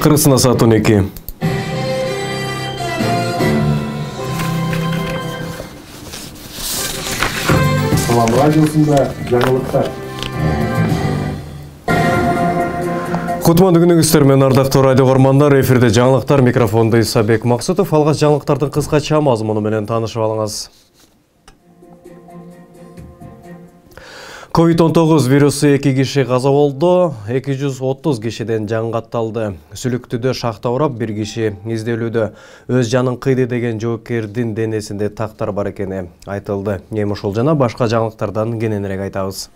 Кыргызстанда саат 12. Салам радиосунда жаңылыктар. Кутмандуу күнүңүздөр менен ардактуу радио көрмандар, эфирде жаңылыктар, микрофонду Исабек Максутов. Алгач жаңылыктардын кыскача мазмуну менен таанышып алыңыз. COVID-19 вирусу 2 киши каза болду, 230 кишиден жан катталды. Сүлүктүдө шахта урап 1 киши изделүүдө. Өз жанын кыйды деген жоокердин денесинде тактар бар экени айтылды. Эми ушул жана башка жаңылыктардан кененирээк айтабыз.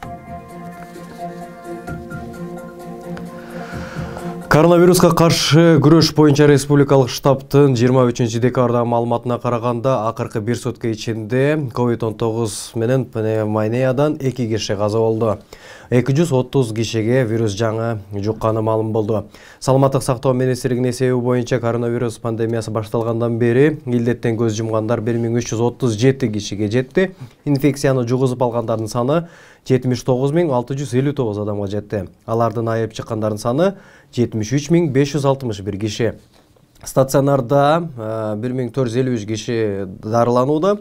Коронавируска каршы күрөш боюнча республикалык штабтын 23 декабрда маалыматына караганда, акыркы 1 сутка ичинде COVID-19 менен пневмониядан 2 киши каза болду. 230 кишиге вирус жаңы жукканы маалым болду. Саламаттык сактоо министрлигинин эсеби боюнча коронавирус пандемиясы башталгандан бери илдеттен көз жумгандар 1337 кишиге жетти. Инфекцияны жугузуп алгандардын саны 79659 адамга жетти. Алардын айып чыккандардын саны 73561 киши. Стационарда 1453 киши дарыланууда,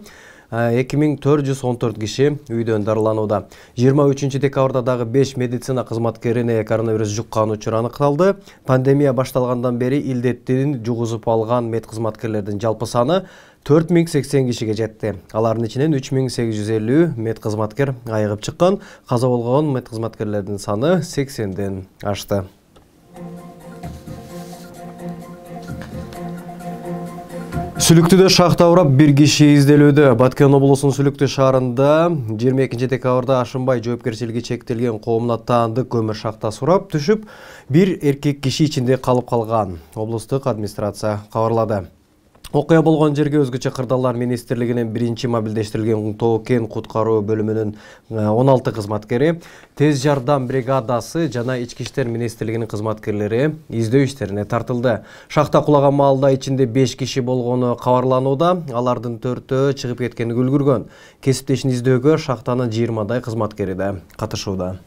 2414 киши үйдөн дарыланууда. 23 декабрда дагы 5 медицина кызматкерине коронавирус жуккан учур аныкталды. Пандемия башталгандан бери илдеттин жугузуп алган медкызматкерлердин жалпы саны 4080 кишиге жетти. Алардын ичинен 3850 медкызматкер айыгып чыккан. Каза болгон медкызматкерлердин саны 80ден ашты. Сүлүктүдө шахта урап 1 киши изделүүдө. Баткен облусунун Сүлүктү шаарында 22 декабрда ашынбай жоопкерчилиги чектелген комнатандык көмүр шахтасы урап түшүп, 1 эркек киши ичинде калып калган. Облустук администрация кабарлады. Окуя болгон жерге өзгөчө кырдаалар министрлигинин 1-чи мобилдештирилген Тоо-Кен куткаруу бөлүмүнүн 16 кызматкери, тез жардам бригадасы жана Ички иштер министрлигинин кызматкерлери издөө иштерине тартылды. Шахта кулаган маалда ичинде 5 киши болгону кабарланууда, алардын 4-өө чыгып кеткени үлгүргөн. Кесиптешин издөөгө шахтанын 20дай кызматкери да катышууда.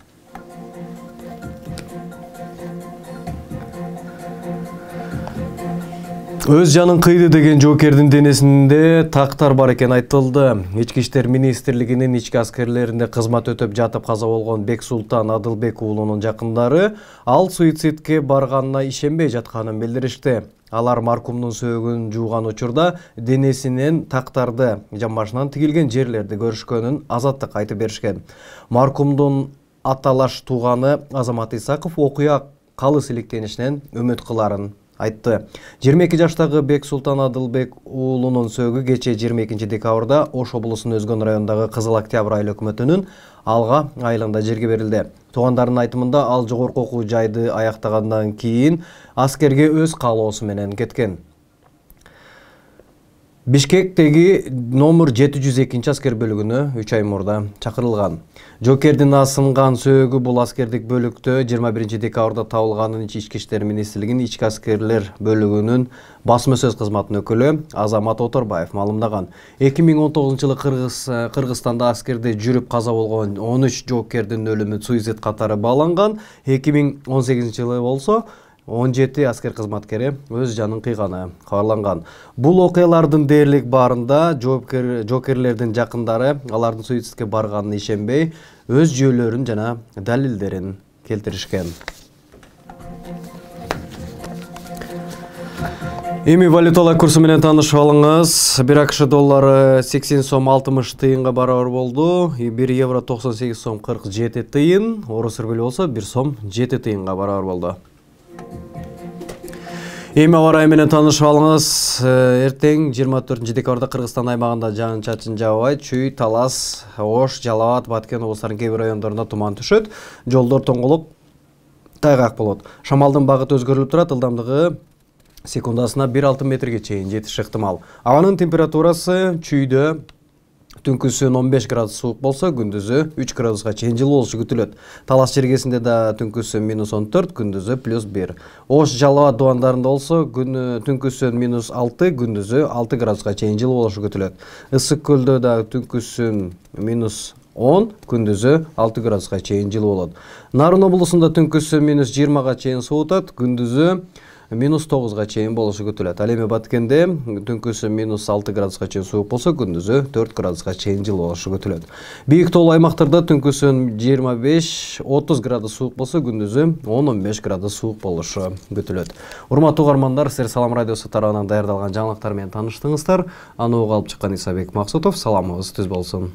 Өз жанын кыйды деген жоокердин денесинде тактар бар экен айтылды. Ички иштер министрлигинин ички аскерлеринде кызмат өтөп жатып каза болгон Бексултан Адылбек уулунун жакындары ал суицидке барганына ишенбей жатканын билдиришти. Алар маркумдун сөөгүн жууган учурда денесинен тактарды жамбашынан тигилген жерлерди көрүшкөнүн азаттык айтып беришкен. Маркумдун аталаш тууганы Азамат Исаков окуя калыс иликтенишинен үмүт кыларын айтты. 22 жаштагы Бексултан Адылбек уулунун сөөгү кече 22 декабрда Ош облусунун Өзгөн районундагы Кызыл Октябрь айыл өкмөтүнүн Алга айылында жерге берилди. Туугандарынын айтымында ал жогорку окуу жайды аяктагандан кийин аскерге өз каалоосу менен кеткен. Бишкектеги номер 702 аскер бөлүгүнө 3 ай мурда чакырылган. Жоокердин асынган сөөгү бул аскердик бөлүктө 21 декабрда табылганын Ички иштер министрлигинин ички аскерлер бөлүгүнүн басма сөз кызматынын өкүлү Азамат Оторбаев маалымдаган. 2019-жылы Кыргызстанда аскерде жүрүп каза болгон 13 жоокердин өлүмү суицид катары бааланган. 2018-жылы болсо 17 аскер кызматкери өз жанын кыйганы кабарланган. Бул окуялардын дээрлик баарында жоокерлердин жакындары алардын суицидке барганына ишенбей, өз жүйөлөрүн жана далилдерин келтиришкен. Эми валюталар курсу менен таанышып алыңыз. 1 АКШ доллары 80 сом 60 тыйынга барабар болду. 1 евро 98 сом 47 тыйын. Орус рубль болсо 1 сом 7 тыйынга барабар болду. Эми аба ырайы менен таанышып алыңыз. Эртең 24 декабрда Кыргызстан аймагында жаан-чачын жаабайт, Чүй, Талас, Ош, Жалал Абад, Баткен облустарынын кээ бир райондорунда туман түшөт. Жолдор тоңголуп, тайгак болот. Шамалдын багыты өзгөрүлүп турат, ылдамдыгы секундасына 1,6 метрге чейин жетиши ыктымал. Абанын температурасы Чүйдө түнкүсүн 15 градус суук болсо, күндүзү 3 градуска чейин жылуу болушу күтүлөт. Талас Чергесинде да түнкүсү -14, күндүзү +1. Ош, Жалал Абад дубандарында болсо, түнкүсүн -6, күндүзү 6 градуска чейин жылуу болушу күтүлөт. Ысык көлдө да түнкүсүн -10, күндүзү 6 градуска чейин жылуу болот. Нарын облусунда түнкүсү -20га чейин суутат, күндүзү -9 чейин болушу күтүлөт. Ал эми Баткенде түнкүсү -6 градуска чейин суук болсо, күндүзү 4 градуска чейин жылы болушу күтүлөт. Бийик тоолуу аймактарда түнкүсү 25-30 градус суук болсо, күндүзү 10-15 градус суук болушу күтүлөт. Урматтуу угармандар, силер Салам радиосу тарабынан даярдалган жаңылыктар менен тааныштыңыздар. Аны угуп алып чыккан Исабек Максутов. Саламыңыз түз болсун.